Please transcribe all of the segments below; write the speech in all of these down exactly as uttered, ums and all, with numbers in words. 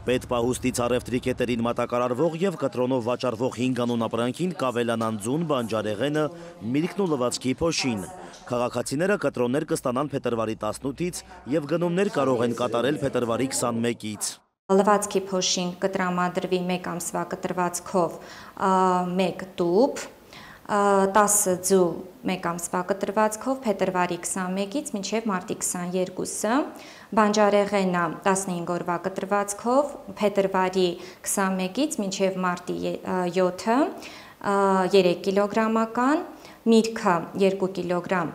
Պետպահուստից առևտրի կետերին մատակարարվող և կտրոնով վաճառվող հինգ անուն ապրանքին կավելանան ձուն, բանջարեղենը, միրգն ու լվացքի փոշին։ Քաղաքացիները կտրոններ կստանան փետրվարի տասնութից և գնումներ կարող են կատարել փետրվարի քսանմեկից։ Լվացքի փոշին կտրամադրվի մեկ ամսվա կտրվածքով մեկ տուփ, տասը ձու մեկ ամսվա կտրվածքով փետրվարի քսանմեկից մինչև մարտի քսաներկուսը, բանջարեղենը տասնհինգ օրվա կտրվածքով փետրվարի քսանմեկից մինչև մարտի յոթը, երեք կիլոգրամական, միրգը երկու կիլոգրամ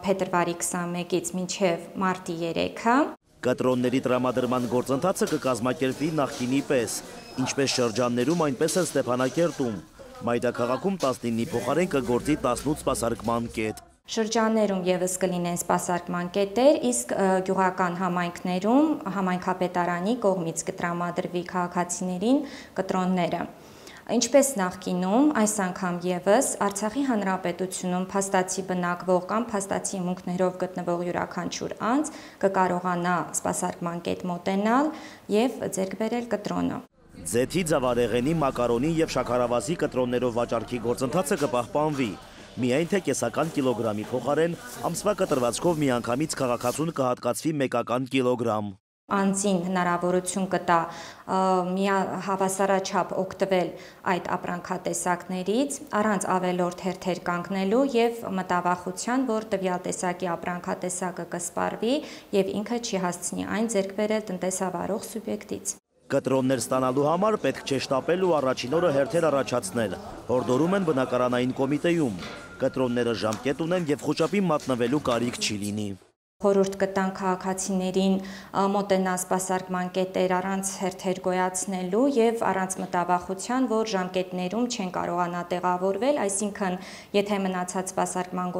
փետրվարի քսանմեկից մինչև մարտի երեքը։ Կտրոնների տրամադրման գործընթացը կկազմակերպվի նախկինի պես, ինչպես շրջաններում, այնպես էլ Ստեփանակերտում։ Մայրաքաղաքում տասնինի փոխարեն կգործի տասնութ սպասարկման կետ։ Շրջաններում ևս կլինեն սպասարկման կետեր, իսկ գյուղական համայնքներում համայնքապետարանի կողմից կտրամադրվի քաղաքացիներին կտրոնները։ Ինչպես նախկինում, այս անգամ ևս Արցախի Հանրապետությունում փաստացի բնակվող կամ փաստացի հիմունքներով գտնվող յուրաքանչյուր անձ կկարողանա սպասարկման կետ մոտենալ և ձեռք բերել կտրոնը։ Ձեթի, ձավարեղենի, մակարոնի և շաքարավազի կտրոններով վաճառքի գործընթացը կպահպանվի, միայն թե կեսական կիլոգրամի փոխարեն ամսվա կտրվածքով միանգամից քաղաքացուն կհատկացվի մեկական կիլոգրամ։ Անձին հնարավորություն կտա հավասարաչափ օգտվել այդ ապրանքատեսակներից, առանց ավելորդ հերթեր կանգնելու և մտավախության, որ տվյալ տեսակի ապրանքատեսակը կսպառվի և ինքը չի հասցնի այն ձեռք բերել տնտեսավարող սուբյեկտից։ Կտրոններ ստանալու համար պետք չէ շտապել ու առաջին օրը հերթեր առաջացնել, հորդորում են բնակարանային կոմիտեում։ Կտրոնները ժամկետ ունեն և խուճապի մատնվելու կարիք չի լինի։ Խորհուրդ կտան քաղաքացիներին մոտենալ սպասարկման կետեր առանց հերթեր գոյացնելու և առանց մտավախության, որ ժամկետներում չեն կարողանա տեղավորվել, այսինքն եթե մնացած սպասարկման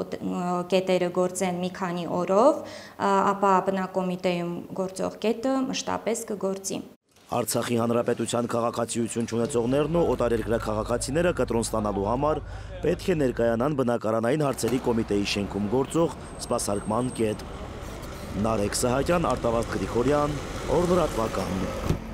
կետերը գործեն մի քանի օրով, ապա բնակկոմիտեում գործող կետը մշտապես կգործի։ Արցախի Հանրապետության քաղաքացիություն չունեցողներն ու օտարերկրյա քաղաքացիները կտրոն ստանալու համար պետք է ներկայանան բնակարանային հարցերի կոմիտեի շենքում գործող սպասարկման կետ։ Նարեկ Սահակյան, Արտավազդ Գրիգորյան, Օրլրատվական։